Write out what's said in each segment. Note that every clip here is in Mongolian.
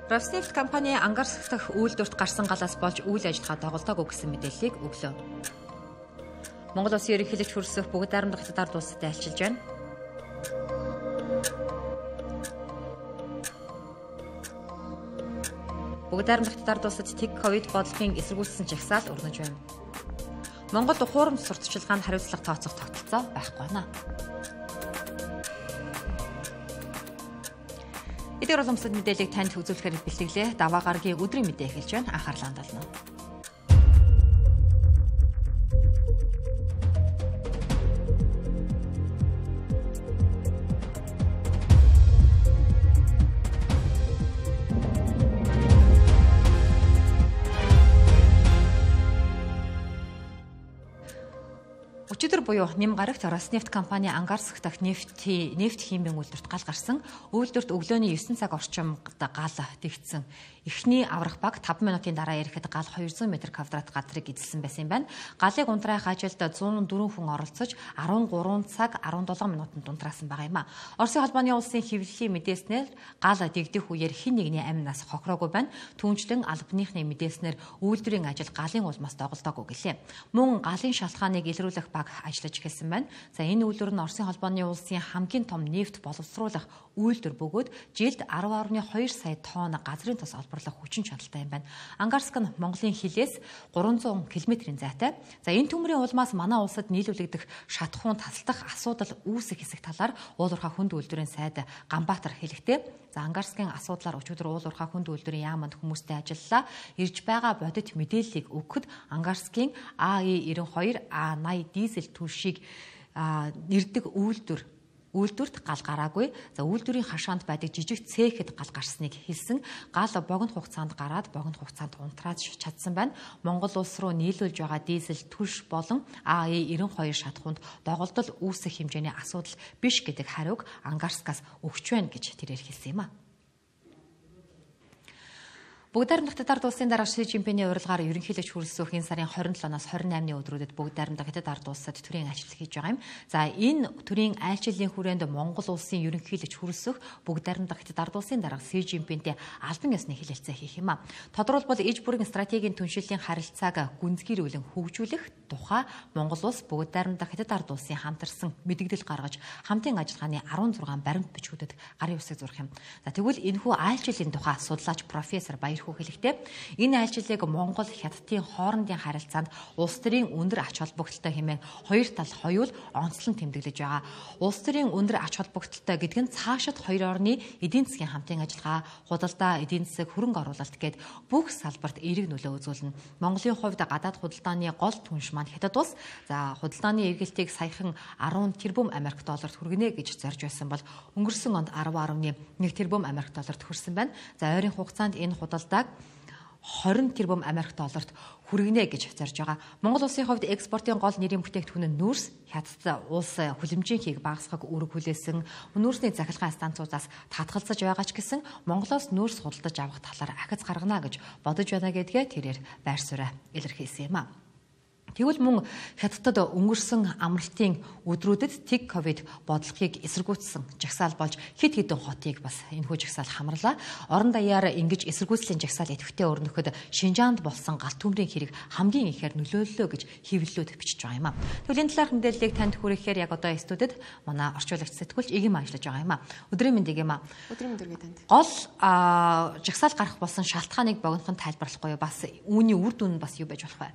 Роснефть компани Ангарск дахь үйлдвэрт гарсан галаас болж үйл ажиллагаа доголдоогүй гэсэн мэдээллийг өглөө. Монгол Улсын ерөнхийлөгч хүрсэх бүгд найрамдах хятад ард улсад айлчилж байна. Бүгд найрамдах хятад ард улсад тэг ковид бодлогын эсэргүүцсэн жагсаал өрнөж байна. Монголд ухуурамч сурталчилгаанд хариуцлага тооцох тогтолцоо байхгүй байна. Эдгээр уламжлалт мэдээллийг танд үзүүлэхээр бэлтгэлээ. Даваа гарагийн өдрийн мэдээ эхэлж байна. Анхаарлаа хандуулна. Өчигдөр буюу нэм гарагт Роснефть компани Ангарск дахь нефть химийн үйлдвэрт гал гарсан. Үйлдвэрт өглөөний 9 цаг орчимд гал тэгсэн. Эхний аврах баг 5 минутын дараа ирэхэд гал 200 м2 газрыг эзэлсэн байсан юм байна. Галыг унтраах ажилд 104 хүн оролцож 13 цаг 17 минутанд унтраасан байгаа юм а. Оросын холбооны улсын хэвлэлийн мэдээснээр гал дэгдэх үеэр хэн нэгний амь нас хохироогүй байна. Түүнчлэн албаныхны мэдээснээр үйлдвэрийн ажил галын улмаас доголдоогүй гэлээ. Мөн галын шалтгааныг илрүүлэх баг ажиллаж эхэлсэн байна. За энэ үйлдвэр нь Оросын холбооны улсын хамгийн том нефть боловсруулах үйлдвэр бөгөөд жилд 10.2 сая тонн газрын тос олборлох хүчин чадалтай юм байна. Ангарск нь Монголын хилээс 300 км-ийн зайтай. За энэ төмрийн улмаас манай улсад нийлүүлэгдэх шатхуун тасалдах асуудал үүсэх хэсэг талаар уул уурхай хүнд үйлдвэрийн сайд Ганбаатар хэлэхдээ за Ангарскийн асуудлаар өчигдөр уул уурхай хүнд үйлдвэрийн яаманд хүмүүстэй ажиллалаа. Ирж байгаа бодит мэдээллийг өгөхөд Ангарскийн АЕ92 А80 дизель түлшийг нэрдэг үйлдвэрт гал гараагүй. За үйлдвэрийн хашаанд байдаг жижиг цехэд гал гарсныг хэлсэн. Гал богино хугацаанд гараад богино хугацаанд унтраад чадсан байна. Монгол улс руу нийлүүлж байгаа дизель түлш болон АЕ92 шатхуунд доголдол үүсэх хэмжээний асуудал биш гэдэг хариуг Ангарскаас өгч байна гэж тэрээр хэлсэн юм а. Бүгд найрамдах хятад ард улсын дарга Ши Жинпиний урилгаар ерөнхийлөгч хүрэлцэх энэ сарын 27-наас 28-ны өдрүүдэд бүгд найрамдах хятад ард улсад төрийн айлчлал хийж байгаа юм. За энэ төрийн айлчлалын хүрээнд Монгол улсын ерөнхийлөгч хүрэлцэх бүгд найрамдах хятад ард улсын дарга Ши Жинпинтэй албан ёсны хэлэлцээ хийх юм а. Тодорхойлбол иж бүрийн стратегийн түншлэлийн харилцааг гүнзгийрүүлэн хөгжүүлэх тухай Монгол улс бүгд найрамдах хятад ард улсын хамтарсан мэдэгдэл гаргаж хамтын ажиллагааны 16 баримт бичгүүдэд гарын үсэг зурх юм. За тэгвэл энэхүү айлчлалын тухай судлаач профессор хэлэхдээ энэ айлчлалыг Монгол хятадын хоорондын харилцаанд улс төрийн өндөр ач холбогдолтой хэмээн хоёр тал хоёул онцлон тэмдэглэж байгаа. Улс төрийн өндөр ач холбогдолтой гэдэг нь цаашид хоёр орны эдийн засгийн хамтын ажиллагаа, худалдаа, эдийн засаг, хөрөнгө оруулалт гээд бүх салбарт эерэг нөлөө үзүүлнэ. Монголын хувьд гадаад худалдааны гол түнш маань хятад улс. За худалдааны эргэлтийг саяхан 10 тэрбум Америк долларт хүргэнэ гэж зорж байсан бол өнгөрсөн онд 10.1 тэрбум Америк долларт хүрсэн байна. За ойрын хугацаанд энэ худалдааг 20 тэрбум Америк долларт хүргэнэ гэж зорж байгаа. Монгол улсын хувьд экспортын гол нэрийн бүтээгдэхүүн нь нүүрс, хятад улс хүлэмжийнхийг багасгах үүрэг хүлээсэн, нүүрсний захилгаан станцуудаас татгалзаж байгаа ч гэсэн Монголоос нүүрс худалдаж авах талаар ахиц гаргана гэж бодож байна гэдгээ тэрээр байр сууриа илэрхийлсэн юм а. Тэгвэл мөн хятадд өнгөрсөн амралтын өдрүүдэд тэг ковид бодлогыг эсэргүүцсэн жагсаал болж хэд хэдэн хотыг бас энэхүү жагсаал хамарлаа. Орон даяар ингэж эсэргүүцлийн жагсаал идэвхтэй өрнөхөд Шинжаанд болсон галт төмрийн хэрэг хамгийн ихээр нөлөөллөө гэж хэвлэлүүд бичиж байгаа юм а. Тэгвэл энэ талаарх мэдээллийг танд хүргэхээр яг одоо студид манай орчуулагч сэтгүүлч Игим ажиллаж байгаа юм а. Өдрийн мэндийг юм а. Өдрийн мэндийг танд. Гол жагсаал гарах болсон шалтгааныг богинохон тайлбарлахгүй бас үүний үр дүн нь бас юу байж болох вэ?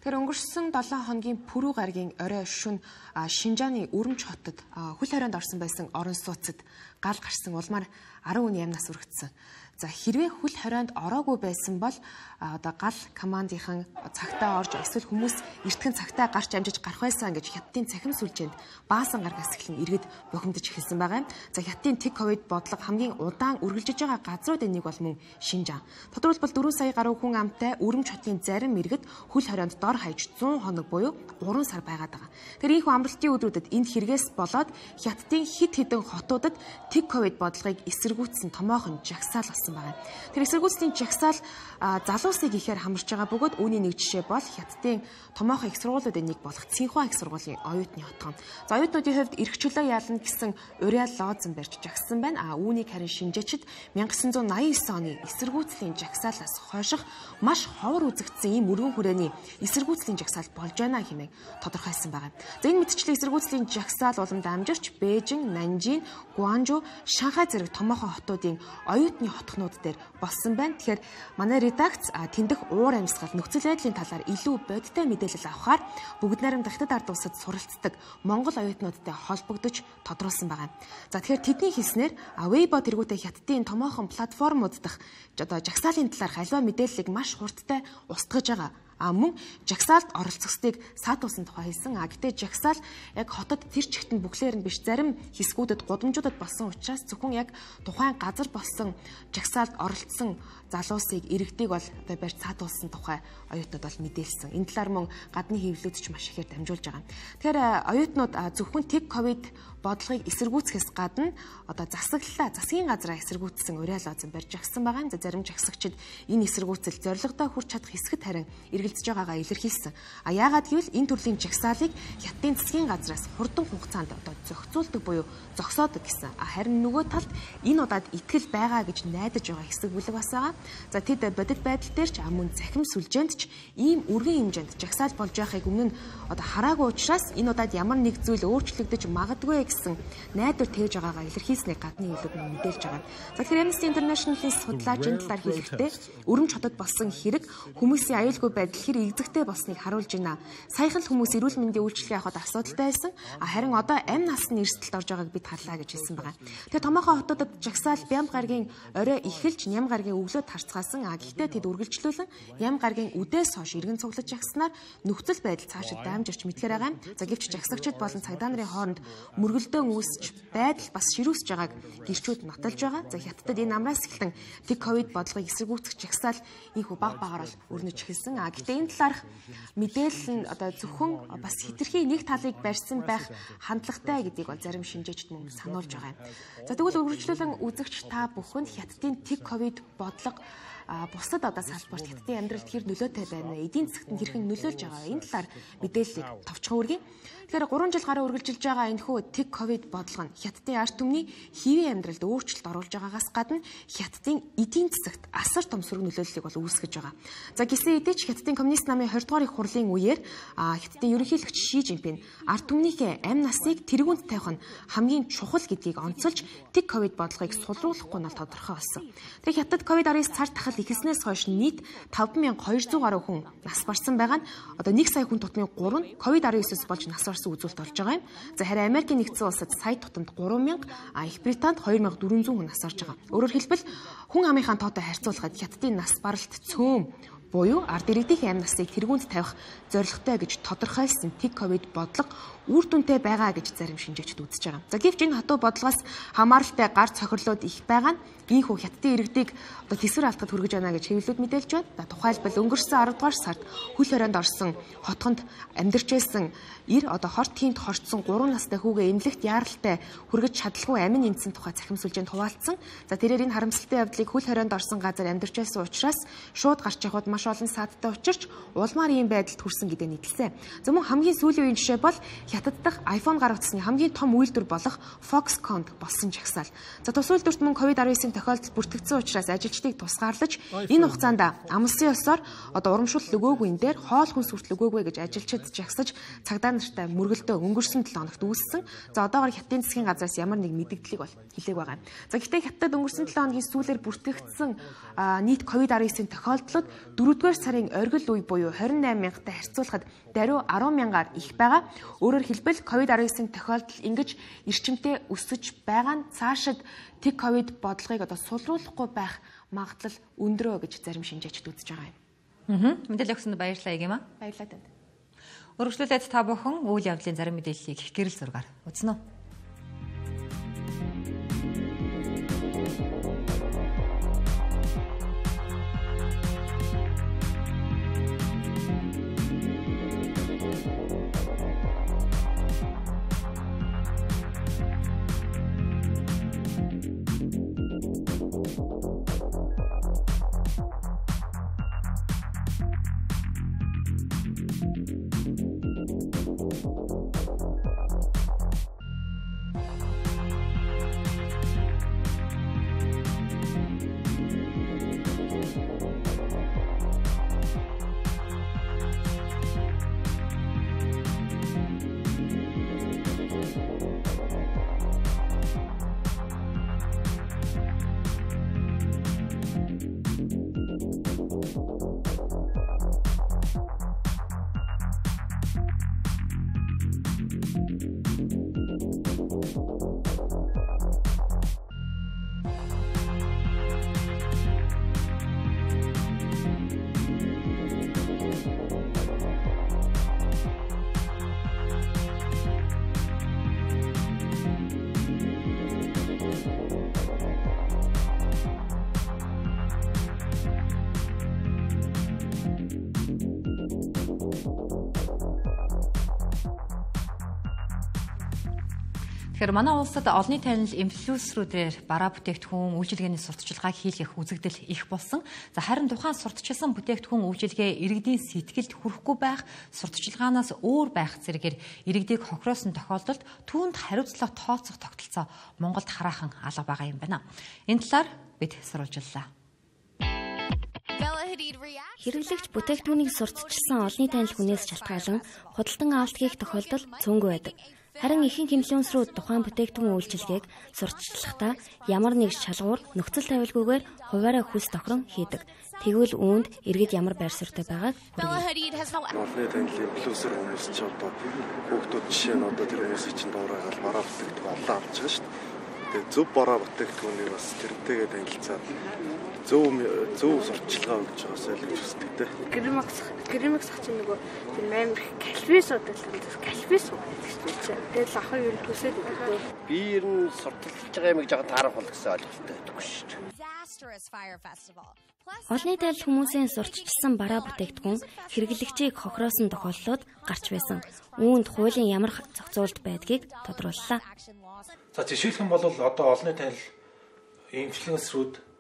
Тэр өнгөрсөн 7 хоногийн пүрэв гарагийн орой шөнө Шинжааны Өрөмч хотод хөл хорионд орсон байсан орон сууцад гал гарсан улмаар 10 хүний амь нас өргөцсөн. За хэрвээ хөл хорионд ороогүй байсан бол одоо гал командынхан цагтаа орж эсвэл хүмүүс эртхэн цагтаа гарч амжиж гарах байсан гэж хятадын цахим сүлжээнд баасан гаргаас эхлэн иргэд бухимдаж эхэлсэн байгаа юм. За хятадын тэг ковид бодлого хамгийн удаан үргэлжиж байгаа газруудын нэг бол мөн Шинжаан. Тодорхойлбол 4 сая гаруй хүн амтай Өрөмч хотын зарим иргэд хөл хорионд дор хаяж 100 хоног буюу 3 сар байгаад байгаа. Тэр ийхүү амралтын өдрүүдэд энд хэрэгээс болоод хятадын хэд хэдэн хотуудад тэг ковид бодлогыг эсэргүүцсэн томоохон жагсаал болсон байна. Тэр эсэргүүцлийн жагсаал залуусыг ихээр хамарч байгаа бөгөөд үүний нэг жишээ бол Хятадын томоохон их сургуулиудын нэг болох Цинхуа их сургуулийн оюутны хотгон. За оюутнуудын хувьд эрх чөлөө яална гэсэн Уриал лозон барьж жагссан байна. Үүнийг харин шинжээчид 1989 оны эсэргүүцлийн жагсаалаас хойших маш ховор үзэгдсэн ийм өргөн хүрээний эсэргүүцлийн жагсаал болж байна хэмээн тодорхойлсон байна. За энэ мэдчлэг эсэргүүцлийн жагсаал уламд амжирч Бээжин, Нанжин, Гуанжу, Шанхай зэрэг томоохон хотуудын оюутны хотхнууд дээр болсон байна. Тэгэхээр манай редакц тэндх уур амьсгал нөхцөл байдлын талаар илүү бодиттой мэдээлэл авахаар бүгд найрамд Хятад ард улсад суралцдаг Монгол оюутнуудтай холбогдож тодруулсан байна. За тэгэхээр тэдний хэлснээр Weibo тэргүүтээ Хятадын томоохон платформуд дах жагсаалын талаарх аливаа мэдээллийг маш хурдтай устгаж байгаа. Мөн жагсаалд оролцохстыг саатуулсан тухай хэлсэн. Гэтээ жагсаал яг хотод тэр чигт нь бүхлээр нь биш зарим хэсгүүдэд гудамжуудад болсон учраас зөвхөн яг тухайн газар болсон жагсаалд оролцсон залуусыг иргэдийг бол одоо барьж саатуулсан тухай оюутнууд бол мэдээлсэн. Энэ талаар мөн гадны хэвлэлүүд ч маш ихээр дамжуулж байгаа. Тэгэхээр оюутнууд зөвхөн тэг ковид бодлогыг эсэргүүцэхээс гадна одоо засгийн газраа эсэргүүцсэн Уриал лозон барьж агсан байгаа. За зарим жагсагчид энэ эсэргүүцэл зорилгодоо хүрч чадах хэсэгт харин эргэлзэж байгаагаа илэрхийлсэн. Яагаад гэвэл энэ төрлийн жагсаалыг Хятадын засгийн газраас хурдан хугацаанд одоо зохицуулдаг буюу зогсоодог гэсэн. Харин нөгөө талд энэ удаад итгэл байгаа гэж найдаж байгаа хэсэг бүлэг бас байгаа. За тэд бодит байдал дээр ч мөн захим сүлжээнд ч ийм өргөн хэмжээнд жагсаал болж байхыг өмнө нь одоо хараагүй учраас энэ удаад ямар нэг зүйл өөрчлөгдөж магадгүй гэсэн найдвар тээж байгаагаа илэрхийлснийг гадны хэлүүд нь мэдээлж байгаа. За тэгэхээр Amnesty International-ийн судлаач энэ талаар хэлэхдээ өрөмж хотод болсон хэрэг хүмүүсийн аюулгүй байдал хэр игзэгтэй болсныг харуулж байна. Саяхан л хүмүүс эрүүл мэндийн үйлчилгээ авахд асуудалтай байсан. Харин одоо амь насны эрсдэлд орж байгааг бид харлаа гэж хэлсэн байгаа. Тэгэхээр томоохон хотуудад жагсаал Бям гаргийн орой эхэлж Ням гаргийн өглөөд харцгаасан. Гэхдээ тэд үргэлжлүүлэн Ням гаргийн үдээс хойш иргэн цуглаж жагснаар нөхцөл байдал цаашид дамжирч мэдхээр байгаа юм. За гэвч жагсагчид болон цагдаа нарын хооронд мөргөлдөөн үүсч байдал бас ширүүсж байгааг гэрчүүд нотолж байгаа. За Хятадд энэ амраас эхэлэн тэг ковид бодлогыг эсэргүүцэх жагсаал инхүү баг багаар өрнөж эхэлсэн. Гэхдээ энэ талаарх мэдээлэл нь одоо зөвхөн бас хэтэрхий нэг талыг барьсан байх хандлагатай гэдгийг бол зарим шинжээчид мөн сануулж байгаа юм. За тэгвэл үргэлжлүүлэн үзэгч та бүхэнд Хятадын тэг ковид бодлого бусад одоо салбарт Хятадын амьдралд хэр нөлөөтэй байна вэ? Эдийн засгт хэрхэн нөлөөлж байгаа энэ талаар мэдээллийг товчхон өргөе. Тэгэхээр 3 жил гаруй үргэлжилж байгаа энэхүү тэг ковид бодлого нь Хятадын ард түмний хэвийн амьдралд өөрчлөлт оруулж байгаагаас гадна Хятадын эдийн засагт асар том сөрөг нөлөөллийг бол үүсгэж байгаа. За гисэн хэдий ч Хятадын коммунист намын 20 дугаар их хурлын үеэр Хятадын ерөнхийлөгч Ши Жинпин ард түмнийхээ амь насыг тэргүүнд тавих нь хамгийн чухал гэдгийг онцолж тэг ковид бодлогыг сулруулахгүй нь тодорхой болсон. Тэгэхээр Хятад ковид-19 цар тахал ихснээс хойш нийт 5200 гаруй хүн нас барсан байгаа нь одоо 1 сая хүн тутмын 3 нь ковид-19-с болж нас барсан үзүүлэлт болж байгаа юм. За харин Америкийн нэгдсэн улсад сая тутамд 3000, Их Британд 2400 хүн нас барж байгаа. Өөрөөр хэлбэл хүн амынхаа тоотой харьцуулахад Хятадын нас баралт цөөн буюу ард иргэдийн амь насыг тэргүүнд тавих зорилготой гэж тодорхойлсон тэг ковид бодлого үр дүнтэй байгаа гэж зарим шинжээчид үзэж байгаа. За гэвч энэ хатуу бодлогоос хамааралтай гар цохирлууд их байгаа нь ийхүү Хятадын иргэдийг одоо тэсвэр алдахад хүргэж байна гэж хэвлэлүүд мэдээлж байна. За тухайлбал өнгөрсөн 10 дугаар сард хөл хорионд орсон хотгонд амьдарч байсан одоо хорт хийнд хорцсон 3 настай хүүгээ эмнэлэгт яаралтай хүргэж чадалгүй амин нэмсэн тухай захим сүлжээнд хуваалцсан. За тэрээр энэ харамсалтай явдлыг хөл хорионд орсон газар амьдарч байсан учраас шууд гарч явахд маш олон саадтай учирч улмаар ийм байдалд хүрсэн гэдэг нийтэлсэн. За мөн хамгийн сүүлийн үеийн жишээ бол Хятад дахь iPhone гаргацсны хамгийн том үйлдвэр болох Foxconn болсон жагсаал. За тус үйлдвэрт мөн COVID-19-ийн тохиолдол бүртгэгдсэн учраас ажилчдыг тусгаарлаж энэ хугацаанд амлсан ёсоор одоо урамшуул өгөөгүй энэ дээр хоол хүнс хүртэл өгөөгүй гэж ажилчид жагсаж цагдаа нартай мөргөлдөө өнгөрсөн 7 хоногт үүссэн. За одоогоор Хятадын засгийн газраас ямар нэг мэдээллийг бол хэлээг байгаа юм. За гэхдээ Хятадд өнгөрсөн 7 хоногийн сүүлээр бүртгэгдсэн нийт COVID-19-ийн тохиолдлууд 4-р сарын оргил үе буюу 28000-тай харьцуулахад даруй 10,000-аар их байгаа. Өөрөөр хэлбэл COVID-19 тохиолдол ингэж эрчимтэй өсөж байгаа нь цаашид тэг ковид бодлогыг одоо сулруулахгүй байх магадлал өндрөө гэж зарим шинжээчид үзэж байгаа юм. Мэдээлэл өгсөнд баярлалаа Егема. Баярлалаа танд. Өргөжлүүлээд та бүхэн үйл явдлын зарим мэдээллийг гэрэл зургаар үзнэ үү? Тэгэхээр манай улсад олонний танил инфлюенсерүүдээр бараа бүтээгдэхүүн үйлчилгээний сурталчилгааг хийх үзэгдэл их болсон. За харин тухайн сурталчилсан бүтээгдэхүүн үйлчилгээ иргэдийн сэтгэлд хүрэхгүй байх, сурталчилгаанаас өөр байх зэрэгээр иргэдийг хохироосон тохиолдолд түүнд хариуцлага тооцох тогтолцоо Монголд хараахан алга байгаа юм байна. Энэ талаар бид сурвалжлалаа. Хэрэглэгч бүтээгдэхүүнийг сурталчилсан олонний танил хүнээс шалтгаалan худалдан авалт хийх тохиолдол цөөнгүй байдаг. Харин ихэнх инфлюенсерүүд тухайн бүтээгдэхүүн үйлчилгээг сурталчлахдаа ямар нэг шалгуур нөхцөл тавилгүйгээр хуваараа хүс тохирон хийдэг. Тэгвэл үүнд иргэд ямар байр суурьтай байгааг хүргэе. Олонний танил инфлюенсер хүмүүс ч одоо хүүхдүүд жишээ нь одоо тэр хүмүүсийн чинь дуурайгаал бараа бүтээгдэхүүн олоо авч байгаа шүү дээ. Тэгээ зөв бараа бүтээгдэхүүнийг бас тэрнтэйгээ танилцаад зөв сурталчилгаа өгч байгаас ойлгож үздэг те. Гэрмикс чинь нөгөө тэр амар калфис калфис гэдэг. Тэгэл ахын юу төсөөд өгдөө. Би ер нь сурталчилж байгаа юм жоо таарах бол гэсэн ойлголттой байдаггүй шүү дээ. Олонний танил хүмүүсийн сурталчилсан бараа бүтээгдэхүүн хэрэглэгчийг хохироосон тохиолдлууд гарч байсан. Үүнд хуулийн ямар зохицуулалт байдгийг тодрууллаа. За жишээлх юм бол одоо олонний танил инфлюенсерүүд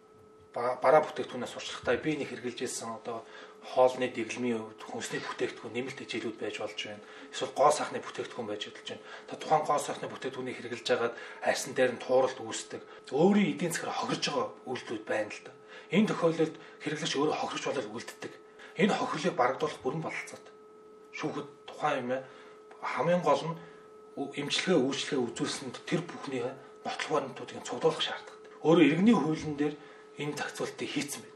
бараа бүтээгдэхүүнээс сурчлахдаа би нэг хэрэгжилж байсан одоо хоолны дэглэмийн хувьд хүнсний бүтээгдэхүүн нэмэлт хичээлүүд байж болж байна. Эсвэл гоо сайхны бүтээгдэхүүн байж болж байна. Та тухайн гоо сайхны бүтээгдэхүүнийг хэрэгжилж байгаад арьсан дээр нь тууралт үүсдэг. Өөрийн эдийн засгаар хохирж байгаа үйлдэлүүд байна л да. Энэ тохиолдолд хэрэглэгч өөрөө хохирч болол үлддэг. Энэ хохирлыг барагдуулах бүрэн бололцоод шүүхэд тухайн юм хамгийн гол нь эмчилгээ үйлчлэгээ үзүүлсэнд тэр бүхний нотлох баримтуудыг цуглуулах шаардлагатай. Өөрөө иргэний хуулийн дээр энэ зохицуултыг хийцэн байдаг.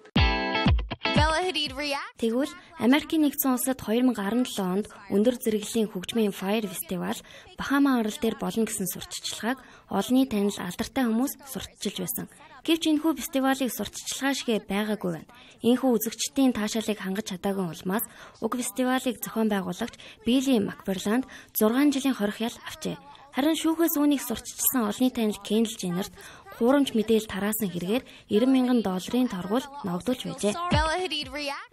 Тэгвэл Америкийн нэгдсэн улсад 2017 онд өндөр зэрэглэлийн хөгжмийн Fire Festival Бахама арал дээр болно гэсэн сурталчилгааг олонний танил алдартай хүмүүс сурталчилж байсан. Гэвч энэхүү фестивалыг сурталчилгаа шигэ байгаагүй байна. Энэхүү үзэгчдийн таашаалыг хангаж чадаагүй улмаас уг фестивалыг зохион байгуулагч Билли Макферланд 6 жилийн хорих ял авчээ. Харин шүүхээс үүнийг сурталчилсан олонний танил Кендл Женнерт хуурамч мэдээлэл тараасан хэрэгээр $90,000 торгуул ногдуулж байжээ.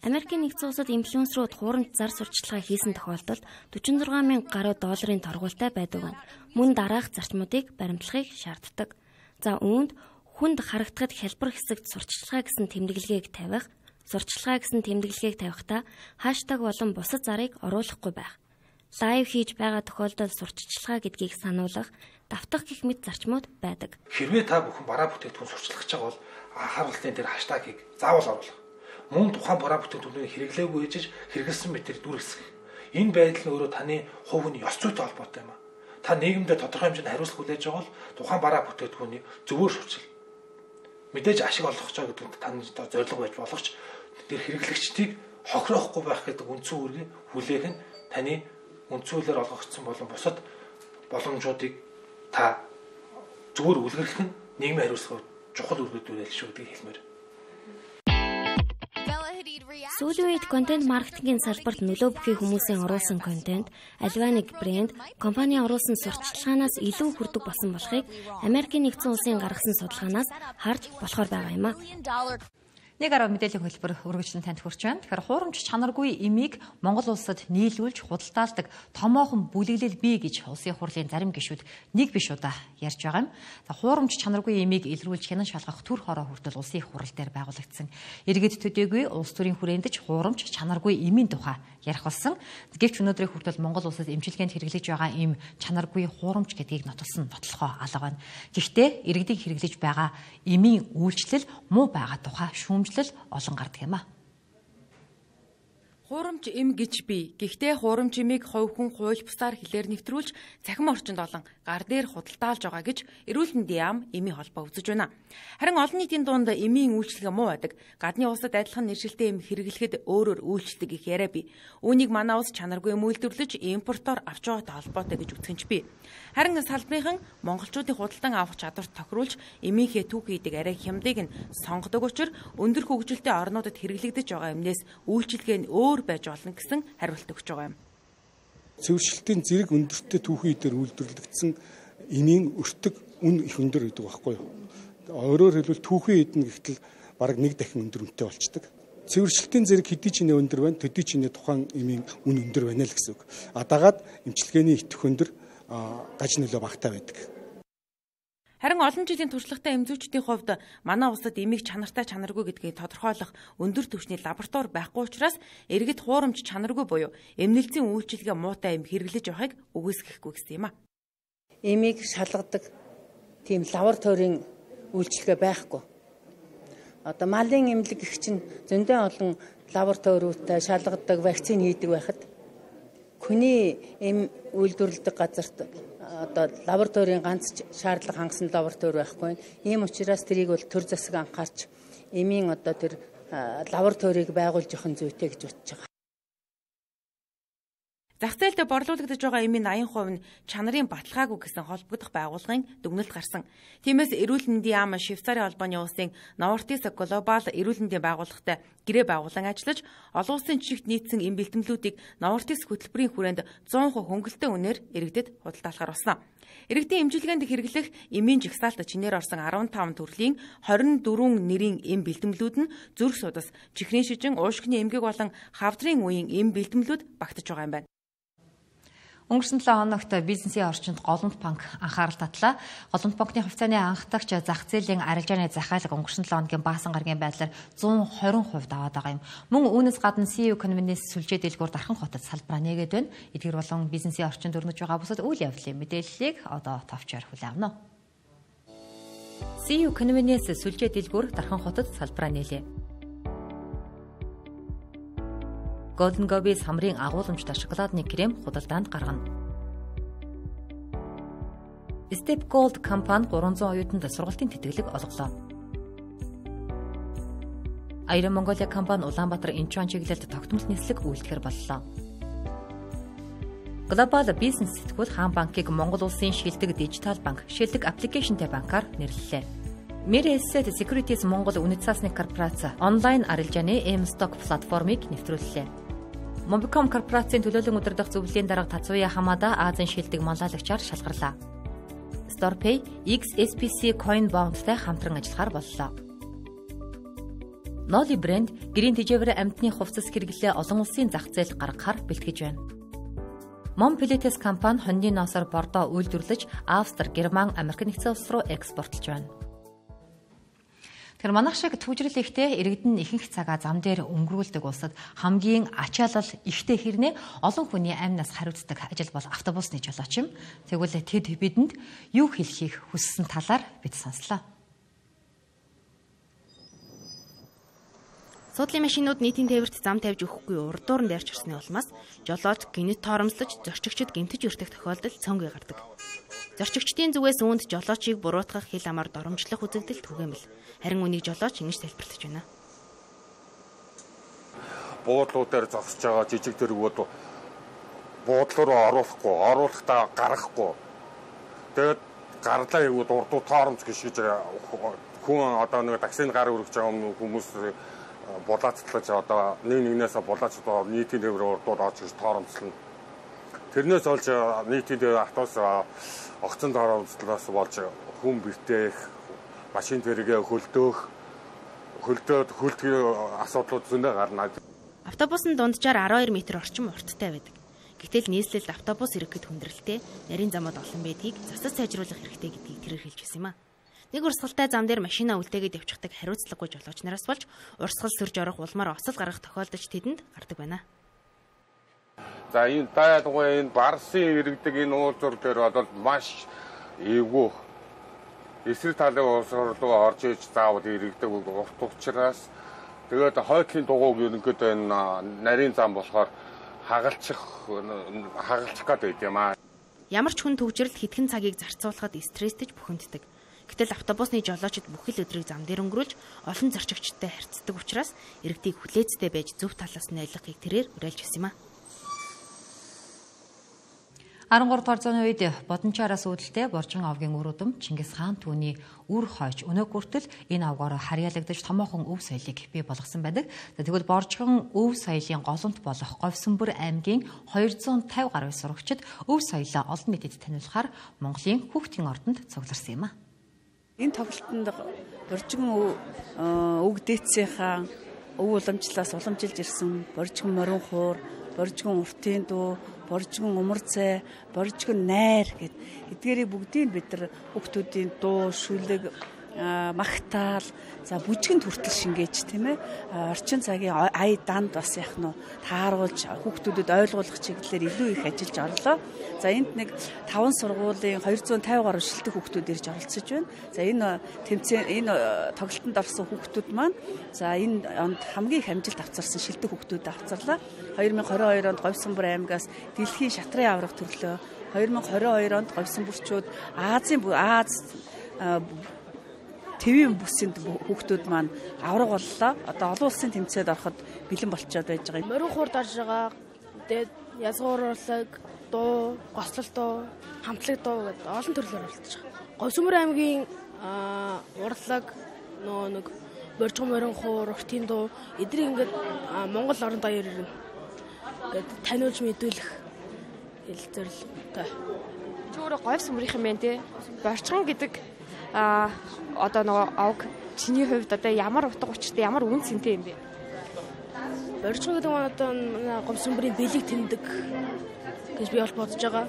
Америкийн нэгдсэн улсад инфлюенсерүүд хуурамч зар сурталчилгаа хийсэн тохиолдолд $46,000 гаруй торгуултай байдаг байна. Мөн дараах зарчмуудыг баримтлахыг шаарддаг. За үүнд хүнд харагдахад хялбар хэсэгт сурталчилгаа гэсэн тэмдэглэгийг тавихдаа хаштаг болон бусад зарыг оруулахгүй байх. Лайв хийж байгаа тохиолдолд сурталчилгаа гэдгийг сануулгах, давтах гэх мэт зарчмууд байдаг. Хэрвээ та бүхэн бараа бүтээгдэхүүн сурталчилж байгаа бол харуултын дээр хаштагийг заавал оруулах. Мөн тухайн бараа бүтээгдэхүүнийг хэрэглээгүй ээжж хэрэгэлсэн мэтэр дүрсгэх. Энэ байдал нь өөрөө таны хувийн ёс зүйтэй холбоотой юм а. Та нийгэмдээ тодорхой хэмжээнд хариуцлага хүлээж байгаа бол тухайн бараа бүтээгдэхүүнийг зөвөр шүүрчил. Мэдээж ашиг олгох гэж гэдэг таны зорилго байж болох ч тэр хэрэглэгчдийг хохироохгүй байх гэдэг үндсэн үүргийг хүлээх нь таны үндсүүлээр олгогдсон болон бусад боломжуудыг та зөвөр үлгэрлэх нь нийгмийн хариуцлага чухал үргэлжлүүлэл шүү гэдгийг хэлмээр. Сүүлийн үед контент маркетингийн салбарт нөлөө бүхий хүмүүсийн оруулсан контент, аливаа нэг брэнд, компани оруулсан сурталчилгаанаас илүү хүрдэг болсон болохыг Америкийн нэгдсэн улсын гаргасан судалгаанаас харж болохоор байгаа юм а. Нэг арга мэдээллийн хөтөлбөр өргөжлөн танд хүрч байна. Тэгэхээр хуурамч чанаргүй эмийг Монгол улсад нийлүүлж худалдаалдаг томоохон бүлэглэл бий гэж улсын хурлын зарим гишүүд нэг биш удаа ярьж байгаа юм. Хуурамч чанаргүй эмийг илрүүлж хянан шалгах төр хороо хүртэл улсын хурал дээр байгуулагдсан. Иргэд төдийгүй улс төрийн хүрээндж хуурамч чанаргүй эмийн тухай ярих болсон. Гэвч өнөөдрийн хүртэл Монгол улсад эмчилгээнд хэрэглэж байгаа эм чанаргүй хуурамч гэдгийг нотолсон нотлохоо алга байна. Гэхдээ иргэдийн хэрэглэж байгаа эмийн үйлчлэл муу байгаа тухай шүүмжлэл олон гардаг юм а. Хуурамч эм гэж бий. Гэхдээ хуурамч эмийг хувь хүн хууль бусаар хэлээр нэвтрүүлж цахим орчинд олон гар дээр худалдаалж байгаа гэж эрүүл мэндийн яам эмийн холбоо үзэж байна. Харин олон нийтийн дунд эмийн үйлчлэг муу байдаг. Гадны улсад адилхан нэршилтэй эм хэрэглэхэд өөрөөр үйлчлдэг их яриа бий. Үүнийг манай улс чанаргүй эм үйлдвэрлэж импортоор авч байгаатай холбоотой гэж үздэг ч бий. Харин салбарынхан монголчуудын худалдан авах чадварт тохируулж эмийнхээ түүхийдэг арай хямдыг нь сонгодог учраас өндөр хөгжилтэй орнуудад хэрэглэгдэж байгаа эмнээс үйлчлэгээ нь өөр байж болно гэсэн хариулт өгч байгаа юм. Цэвэршилтийн зэрэг өндөртэй түүхий дээр үйлдвэрлэгдсэн эмийн өртөг үн их өндөр гэдэг байхгүй юу? Өөрөөр хэлбэл түүхий эдэн гэхтэл бараг 1 дахин өндөр үнэтэй болчдөг. Цэвэршилтийн зэрэг хэдий ч нэ өндөр байна, төдий ч нэ тухайн эмийн үн өндөр байна л гэсэн үг. Дагаад эмчилгээний итэх өндөр гаж нөлөө багтаа байдаг. Харин олон жилийн туршлагатай эмзүүчдийн хувьд манай улсад эмийг чанартай чанаргүй гэдгийг тодорхойлох өндөр түвшний лаборатори байхгүй учраас иргэд хуурамч чанаргүй буюу эмнэлзийн үйлчилгээ муутай эм хэрэглэж явахыг үгүйсгэхгүй гэсэн юм а. Эмийг шалгадаг тийм лабораторийн үйлчилгээ байхгүй. Одоо малын эмнэлэг гэх чинь зөндөө олон лабораториудтай шалгадаг, вакцин хийдэг байхад хүний эм үйлдвэрлэдэг газарт одоо лабораторийн ганц шаардлага хангасан лаборатори байхгүй. Ийм учраас тэрийг бол төр засаг анхаарч эмийн одоо тэр лабораторийг байгуулж явах нь зүйтэй гэж бодож байгаа. Зах зээлд борлуулагдаж байгаа эмийн 80% нь чанарын баталгаагүй гэсэн холбогдох байгууллагын дүгнэлт гарсан. Тиймээс эрүүл мэндийн яам Швейцарын холбооны улсын Novartis Global эрүүл мэндийн байгууллагатай гэрээ байгуулан ажиллаж олон улсын жишгт нийцсэн эм бэлтгэлүүдийг Novartis хөтөлбөрийн хүрээнд 100% хөнгөлөлтөө үнээр иргэдэд худалдаалахаар болсон. Иргэдийн эмчилгээнд хэрэглэх эмийн жигсаалт чинээр орсон 15 төрлийн 24 нэрийн эм бэлтгэлүүд нь зүрх судас, чихрийн шижин, уушгины эмгэг болон хавдрын үеийн эм бэлтгэлүүд багтаж байгаа юм байна. Өнгөрсөн 7 хоногт бизнесийн орчинд Голомт банк анхаарал татлаа. Голомт банкны хувьцааны анхдагч зах зээлийн арилжааны захиалга өнгөрсөн 7 хоногийн баасан гарагийн байдлаар 120% даваад байгаа юм. Мөн үүнээс гадна CEO Convenience сүлжээ дэлгүүр Дархан хотод салбараа нээгээд байна. Эдгээр болон бизнесийн орчинд өрнөж байгаа бусад үйл явдлын мэдээллийг одоо товчоор хүлээн авна. CEO Convenience сүлжээ дэлгүүр Дархан хотод салбараа нээлээ. Golden Gobi самрын агуулмжтай шоколадны крем худалдаанд гаргана. Step Gold компани 300 оюутанд сургалтын тэтгэлэг олголоо. Iron Mongolia компани Улаанбаатар Инчуан чиглэлд тогтмол нислэг үйлдэхэр боллоо. Global Business сэтгүүл Хаан банкыг Монгол улсын шилдэг дижитал банк, шилдэг аппликейшнтэй банкаар нэрлэлээ. Miraset Securities Монгол үнэт цаасны корпорац онлайн арилжааны M-Stock платформыг нэвтрүүллээ. Mobicom корпорацийн төлөөлөн удирдах зөвлөлийн дарга Тацуя Хамада Азийн шилдэг манлайлагчаар шалгарлаа. StorePay XSPC Coin Bond-тай хамтран ажиллахаар боллоо. Noli брэнд гэрийн тэжээвэр амьтны хувцас хэрэглээ олон улсын зах зээлд гаргахаар бэлтгэж байна. Monpilites компани хоньны ноосоор бордоо үйлдвэрлэж Австри, Герман, Америк нэгдсэн улс руу экспортлж байна. Тэр манайх шиг төвжрэл ихтэй иргэдэн ихэнх цагаа зам дээр өнгөрүүлдэг улсад хамгийн ачаалал ихтэй хэрнээ олон хүний амнаас хариуцдаг ажил бол автобусны жолооч юм. Тэгвэл тэд бидэнд юу хэлхийг хүссэн талаар бид сонслоо. Суудлын машинууд нийтийн тээвэрт зам тавьж өгөхгүй урдуур нь дайрч ирсний улмаас жолооч гинэт торомслож зорчигчид гэмтэж өртөх тохиолдол цөөнгүй гардаг. Зорчигчдын зүгээс үүнд жолоочийг буруутгах хил амаар доромжлох үзэгдэл түгээмэл. Харин үнийг жолооч ингэж тайлбарлаж байна. Буудлуудаар зогсож байгаа жижиг дэргүүд буудлуу руу оруулахдаа гаргахгүй. Тэгээд гарлаа хийгүүд урдуу торомж гიშгэж хүн одоо нэг таксинд гар өргөж байгаа хүмүүс булаацлаж одоо нэгнээс булаач нийтийн тээвэр урдууд орж ирж торомцлно. Тэрнээс олж нийтийн тээвэр автобус огцон торомцлоос болж хүн бэртээх, машин тэргээ хөлдөөд асуудлууд зөндөө гарна. Автобус нь дунджаар 12 м орчим урттай байдаг. Гэтэл нийслэлд автобус иргэхэд хүндрэлтэй, нарийн замууд олон байдгийг засаж сайжруулах хэрэгтэй гэдгийг тэрээр хэлж байсан юм а. Нэг урсгалтай зам дээр машинаа үлдээгээд явчихдаг хариуцлагагүй жолооч нараас болж урсгал сөрж орох улмаар осол гаргах тохиолдож тэдэнд гардаг байна. За энэ тайлбарыг энэ Барсын иргэдэг энэ уулзуур дээр бол маш эвгүй эсрэг талын улсруу орж иж заавал иргэдэг урт учраас тэгээд хойдлын дугуйг ерөнхийдөө энэ нарийн зам болохоор хагалчих гээд байд юм аа. Ямар ч хүн төвжрэлд хэдхэн цагийг зарцуулахад стресстэй бухимддаг. Гэтэл автобусны жолоочид бүх л өдрийг зам дээр өнгөрүүлж олон зорчигчдтай харьцдаг учраас иргэдийг хүлээцтэй байж зөв талаас нь ойлгохыг тэрээр уриалж байсан юм а. 13 дугаар зууны үед Бодончаараас үүдэлтэй Боржин авгийн үр удам Чингис хаан түүний үр хойч өнөө хүртэл энэ авгаараа харьяалагдаж томоохон өв соёлыг бий болгосон байдаг. Тэгвэл Боржин өв соёлын голомт болох Говьсөнбөр аймгийн 250 гаруй сурагчид өв соёлоо олон нийтэд таниулахаар Монголын хүүхдийн ордонд цугларсан юм а. Энэ тоглолтод Боржин өг дээдсийнхаа өв уламжлалаас уламжилж ирсэн Боржин морин хуур, Боржин уртын дуу, боржгон умарцай, боржгон найр эдгээрийг бүгдийг бид нар хүүхдүүдийн дуу, шүлэг, магтаал, за бүжгэнд хүртэл шингээж тийм ээ. Орчин цагийн ая данд бас яг нь тааруулж хүүхдүүдэд ойлгуулах чиглэлээр илүү их ажиллаж орлоо. За энд нэг 5 сургуулийн 250 гаруй шилдэг хүүхдүүд ирж оролцож байна. За энэ тоглолтод орсон хүүхдүүд маань за энэ онд хамгийн их амжилт авчирсан шилдэг хүүхдүүд авчирлаа. 2022 онд Говьсонбор аймгаас дэлхийн шатрын аврах төрлөө, 2022 онд Говьсонборчууд Аз Тэвийн бүсэнд хүүхдүүд маань авраг боллоо. Одоо олон улсын тэмцээнд ороход бэлэн болчиход байж байгаа. Морин хуурд орж байгаа. Тэгээд язгууруулаг, дуу, гослол дуу, хамтлаг дуу гэдэг олон төрлөөр оролцож байгаа. Говьсонбор аймгийн урлаг нэг боржгон морин хуур, уртын дуу эдгээр ингээд Монгол орон даяар ингээд таниулж мэдүүлэх зорилготой. Чи өөрөө Говьсонборынхан байна тий. Боржгон гэдэг одоо нөгөө авг чиний хувьд одоо ямар утга учиртай ямар үн цэнтэй юм бэ? Боржгон гэдэг нь одоо Говьсонборын бэлэг тэмдэг гэж би бол бодож байгаа.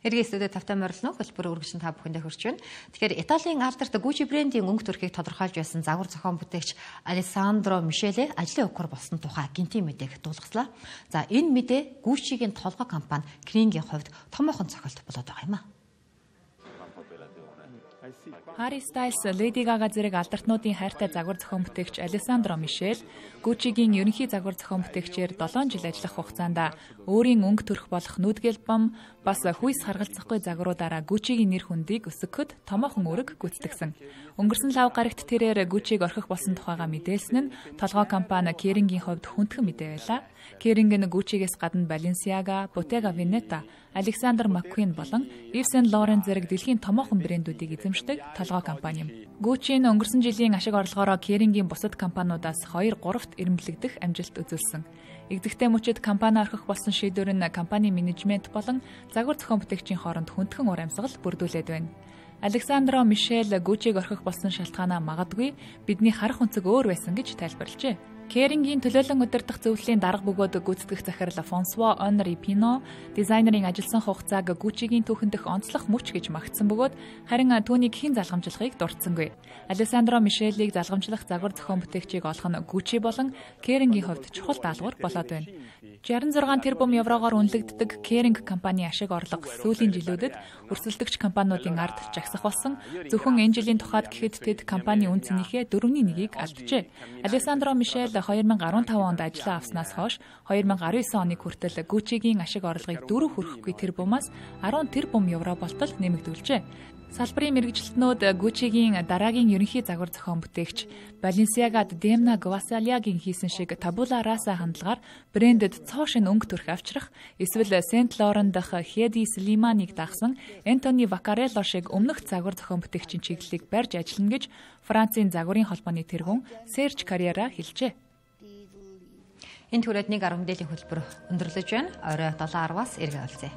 Эргээ студид тавтай морилно хөлбөр үргэлжлэн та бүхэндээ хүрч байна. Тэгэхээр Италийн алдарт Gucci брендийн өнгө төрхийг тодорхойлж байсан загвар зохион бүтээгч Алессандро Мишеле ажлын өгөхөр болсон тухай гинтийн мэдээг дуулгацлаа. За энэ мэдээ Gucci-гийн толгой компани Kering-ийн хувьд томоохон цохилт болоод байгаа юм а. Harry Styles, Lady Gaga зэрэг алдартнуудын хайртай загвар зохион бүтээгч Алессандро Мишель, Gucci-гийн ерөнхий загвар зохион бүтээгчээр 7 жил ажиллах хугацаанд өөрийн өнгө төрх болох нүүдгэл бам бас хүйс харгалзахгүй загваруудаараа Gucci-гийн нэр хүндийг өсгөхөд томоохон үүрэг гүйцэтгсэн. Өнгөрсөн лав гарагт тэрээр Gucci-г орхих болсон тухайга мэдээлсэн нь толгой компани Kering-ийн хувьд хүндхэн мэдээ байлаа. Kering нь Gucci-гээс гадна Balenciaga, Bottega Veneta, Alexander McQueen болон Yves Saint Laurent зэрэг дэлхийн томоохон брэндүүдийг эзэмшдэг толгой компани юм. Gucci нь өнгөрсөн жилийн ашиг орлогоороо Kering-ийн бусад компаниудаас 2-3-т эрэмблэгдэх амжилт үзүүлсэн. Игзэгтэй мөчид компани орхих болсон шийдвэр нь компани менежмент болон загвар зохион бүтээгчийн хооронд хүндхэн ур амьсгал бүрдүүлээд байна. Александро Мишель Gucci-г орхих болсон шалтгаанаа магадгүй бидний харах өнцөг өөр байсан гэж тайлбарлажээ. Kering-ийн төлөөлөн удирдах зөвлөлийн дарга бөгөөд гүйцэтгэх захирал Франсуа Онри Пино дизайнерын ажилласан хугацааг Gucci-гийн түүхэндх онцлог мөч гэж магтсан бөгөөд харин түүнийг хэн залгамжлахыг дурдсангүй. Алессандро Мишелийг залгамжлах загвар зохион бүтээгчийг олох нь Gucci болон Kering-ийн хувьд чухал даалгавар болоод байна. 66 тэрбум еврогоор үнэлэгддэг Kering компани ашиг орлого сүүлийн жилүүдэд өрсөлдөгч компаниудын ард жагсах болсон. Зөвхөн энэ жилийн тухайд гэхэд тэд компани үн цэнийхээ 4/1-ийг алджээ. Алессандро Мишель 2015 онд ажиллаа авснаас хойш 2019 оны хүртэл Gucci-гийн ашиг орлогыг 4 хүрэхгүй тэрбумаас 10 тэрбум евро болтол нэмэгдүүлжээ. Салбарын мэргэжилтнүүд Gucci-гийн дараагийн ерөнхий загвар зохион бүтээгч Balenciaga-д Demna Gvasalia-гийн хийсэн шиг Tabula Rasa хандлагаар брэндэд цоо шин өнгө төрх авчрах, эсвэл Saint Laurent дах Hedi Slimane-ыг дагсан Anthony Vaccarello шиг өмнөх загвар зохион бүтээгчийн чиглэлийг барьж ажиллана гэж Францын загварын холбооны тэргүүн Serge Carriera хэлжээ. Энэ түрээд нэг 10 мэдээллийн хөтөлбөр өндөрлөж байна. Орой 7:10-аас эргээ олцъя.